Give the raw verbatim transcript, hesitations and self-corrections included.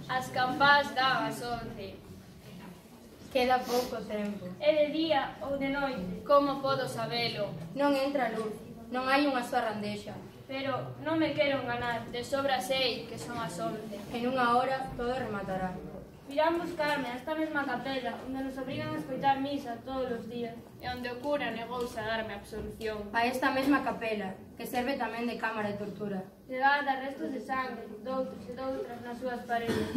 As campás dan as once. Queda pouco tempo. É de día ou de noite? Como podo sabelo? Non entra luz, non hai unha soa randexa. Pero non me quero enganar, de sobra sei que son as once. En unha hora todo rematará. Virán buscarme a esta mesma capela, onde nos obrigan a escoitar misa todos os días. E onde o cura negouse a darme absolución. A esta mesma capela, que serve tamén de cámara de tortura. Que guarda restos de sangue, doutros e doutras nas súas paredes.